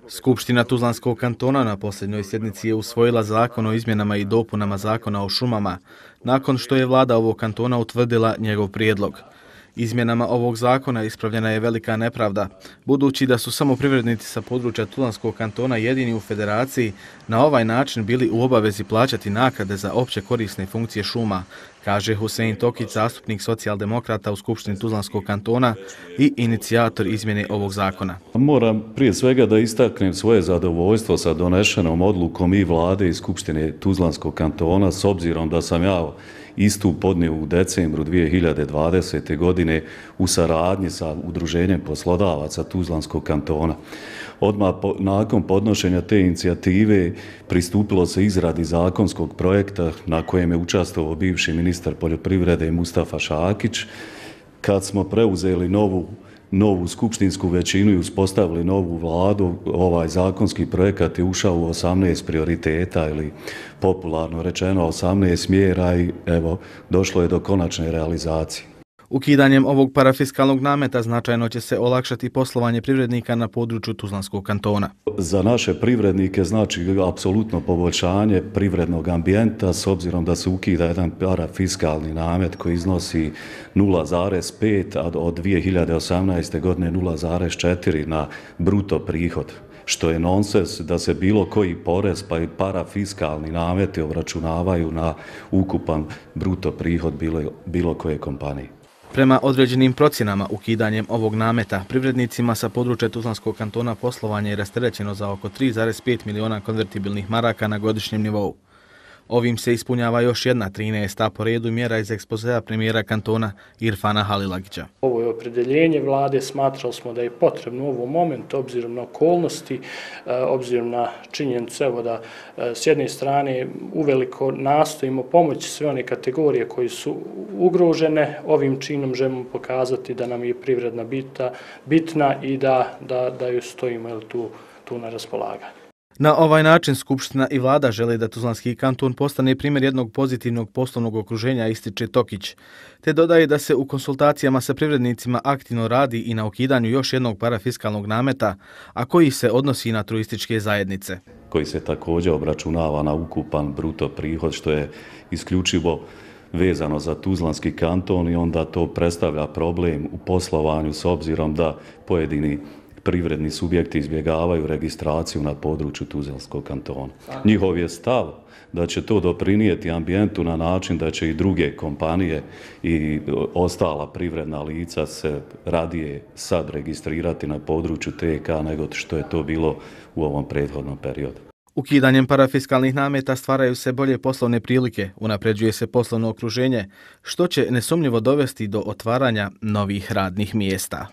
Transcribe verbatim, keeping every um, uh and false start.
Skupština Tuzlanskog kantona na posljednjoj sjednici je usvojila zakon o izmjenama i dopunama zakona o šumama, nakon što je vlada ovog kantona utvrdila njegov prijedlog. Izmjenama ovog zakona ispravljena je velika nepravda, budući da su samo privrednici sa područja Tuzlanskog kantona jedini u federaciji na ovaj način bili u obavezi plaćati naknade za opće korisne funkcije šuma, kaže Husein Tokić, zastupnik socijaldemokrata u Skupštini Tuzlanskog kantona i inicijator izmjene ovog zakona. Moram prije svega da istaknem svoje zadovoljstvo sa donešenom odlukom i vlade i Skupštine Tuzlanskog kantona, s obzirom da sam ja istu podnio u decembru dvije hiljade dvadesete. godine u saradnji sa Udruženjem poslodavaca Tuzlanskog kantona. Odmah po, nakon podnošenja te inicijative pristupilo se izradi zakonskog projekta na kojem je učestvovao bivši ministar poljoprivrede Mustafa Šakić. Kad smo preuzeli novu novu skupštinsku većinu i uspostavili novu vladu, ovaj zakonski projekat je ušao u osamnaest prioriteta ili popularno rečeno osamnaest mjera i evo došlo je do konačne realizacije. Ukidanjem ovog parafiskalnog nameta značajno će se olakšati poslovanje privrednika na području Tuzlanskog kantona. Za naše privrednike znači apsolutno poboljšanje privrednog ambijenta s obzirom da se ukida jedan parafiskalni namet koji iznosi nula zarez pet, a od dvije hiljade osamnaeste. godine nula zarez četiri na bruto prihod, što je nonsens da se bilo koji porez pa i parafiskalni nameti obračunavaju na ukupan bruto prihod bilo, bilo koje kompanije. Prema određenim procjenama, ukidanjem ovog nameta privrednicima sa područja Tuzlanskog kantona poslovanje je rasterećeno za oko tri zarez pet miliona konvertibilnih maraka na godišnjem nivou. Ovim se ispunjava još jedna trinaesta po redu mjera iz ekspozea premijera kantona Irfana Halilagića. Ovo je opredeljenje vlade, smatrali smo da je potrebno u ovom momentu, obzirom na okolnosti, obzirom na činjenicu evo da s jedne strane uveliko nastojimo pomoći sve one kategorije koje su ugrožene. Ovim činom želimo pokazati da nam je privredna bita, bitna i da, da, da ju stojimo jel, tu, tu na raspolaganju. Na ovaj način Skupština i vlada žele da Tuzlanski kanton postane primjer jednog pozitivnog poslovnog okruženja, ističe Tokić, te dodaje da se u konsultacijama sa privrednicima aktivno radi i na ukidanju još jednog parafiskalnog nameta, a koji se odnosi na turističke zajednice. Koji se također obračunava na ukupan bruto prihod, što je isključivo vezano za Tuzlanski kanton i onda to predstavlja problem u poslovanju s obzirom da pojedini privredni subjekti izbjegavaju registraciju na području Tuzlanskog kantona. Njihov je stav da će to doprinijeti ambijentu na način da će i druge kompanije i ostala privredna lica se radije sad registrirati na području T K nego što je to bilo u ovom prethodnom periodu. Ukidanjem parafiskalnih nameta stvaraju se bolje poslovne prilike, unapređuje se poslovno okruženje, što će nesumnjivo dovesti do otvaranja novih radnih mjesta.